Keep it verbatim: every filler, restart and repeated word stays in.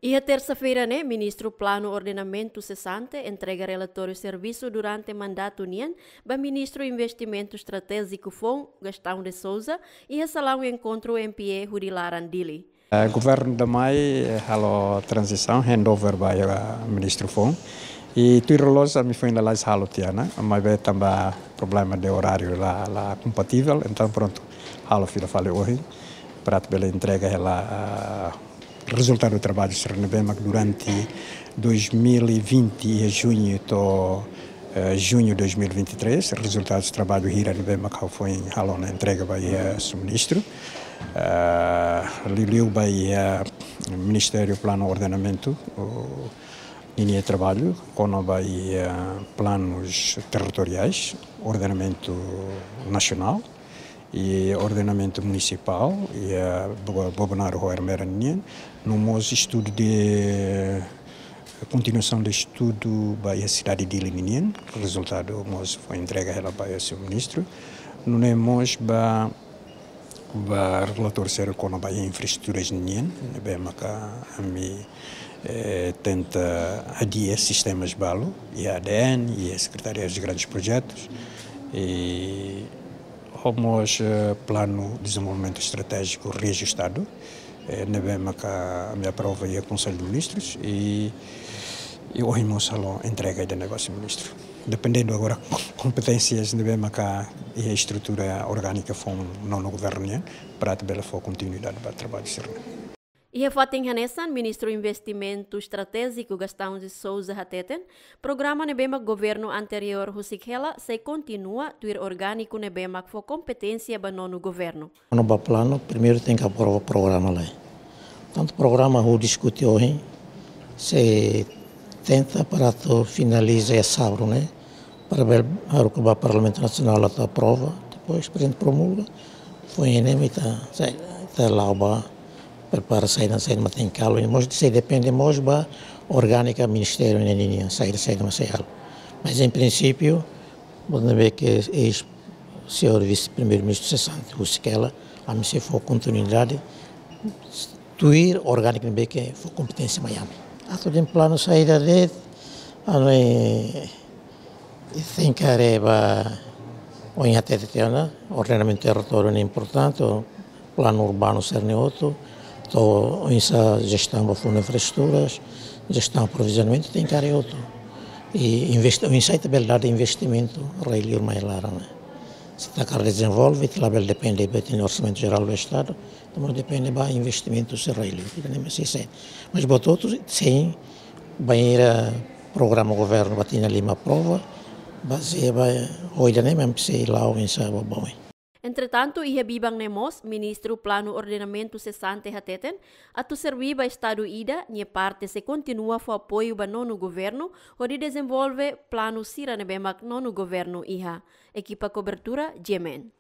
Iha tersa-feira ne'e, Ministru Planu Ordenamentu sesante entrega relatóriu servisu durante mandatu nian ba Ministru Investimentu Estratéjiku foun, Gastão de Sousa, iha salaun enkontru M P E hudi laran Dili. Eh, governu ida mai, eh, halo tranzisaun, handover ba, eh, ministru foun. I tuir loloos ami foin lalais halo tiha ona, maibé tanba problema de oráriu la, la kompativel, entaun prontu, halo fila fali ohin, para atu bele entrega hela, ah, rezultadu traballu sira ne'ebé mak durante dois mil e vinte, iha juñu to'o, eh, juñu dois mil e vinte e três, rezultadu traballu hira ne'ebé mak ha'u foin halo ona entrega ba iha Sua Ministru. Eh, liuliu ba iha Ministériu Planu Ordenamentu, o, ninia traballu kona-ba iha planus territoriais, ordenamentu nasionál i ordenamentu munisipál, iha Bo-, Bobonaro ho Ermera nian, no mós estudu de, kontinuasaun de estudu ba iha sidade Dili nian, rezultadu mós foin entrega hela ba iha Sua Ministru. Nune'e mós ba, ba relatóriu sira kona-ba iha infraestruturas nian, ne'ebé maka ami, eh, tenta adia sistemas balu, iha A D N, iha Secretaria de Grandes Projetos, i ho mós, eh, Planu Dezenvolvimentu Estratéjiku reajustadu, eh, ne'ebé maka ami aprova iha Konsellu de Ministrus, i, i ohin mós halo entrega ida-ne'e ba Sua Ministru. Dependendu agora kompeténsias ne'ebé maka iha estrutura orgánika foun nonu governu nian, para atu bele fó kontinuidade ba traballu sira-ne'e. Iha fatin hanesan, Ministru Investimentu Estratéjiku Gastão de Sousa hateten, programa ne'ebé mak governu anteriór husik hela sei kontinua tuir orgániku ne'ebé mak fó kompeténsia ba nonu governu. Kona-ba planu, primeiru tenke aprova programa lai. Tantu programa ha'u diskute ohin, sei tenta para atu finaliza iha sábadu ne'e, para bele haruka ba Parlamentu Nasionál atu aprova, depois Prezidente promulga, foin ne'e ita, sei, ita la'o ba prepara saida, saida mak tenke halo, i mós sei depende mós ba orgánika ministériu ne'e nian, saida, saida mak sei halo. Mas em princípio, buat ne'ebé ke eis señór Vise-Primeiru-Ministru sesante husik hela, ami sei fó kontinuidade tuir orgániku ne'ebé ke fó kompeténsia mai ami. Atu dehan planu saida de'it, ami tenke haree ba, ohin hatete tiha ona, ordenamentu territóriu ne'e importante, planu urbanu sira-ne'e hotu, to'o oinsá jestaun ba fundu infraestruturas, jestaun aprovizionamentu tenke haree hotu. I invest-, oinsá ita bele dada investimentu rai-liur mai laran ne'e. Se ita hakarak dezenvolve, ita labele depende ba orsamentu jerál do Estadu, ita mós depende ba investimentu sira rai-liur, ita-nia mesi se. Mas buat hotu, sin, bainhira programa governu ba tinan lima aprova, bazeia ba oida ne'e mem sei la'o oinsá ba oin. Entretantu, iha biban ne'e mós, Ministru Planu Ordenamentu sesante hateten, atu serví ba Estadu ida, nia parte sei kontinua fó apoiu ba nonu governu, hodi dezenvolve planu sira ne'ebé mak nonu governu iha. Ekipa kobertura, G M N.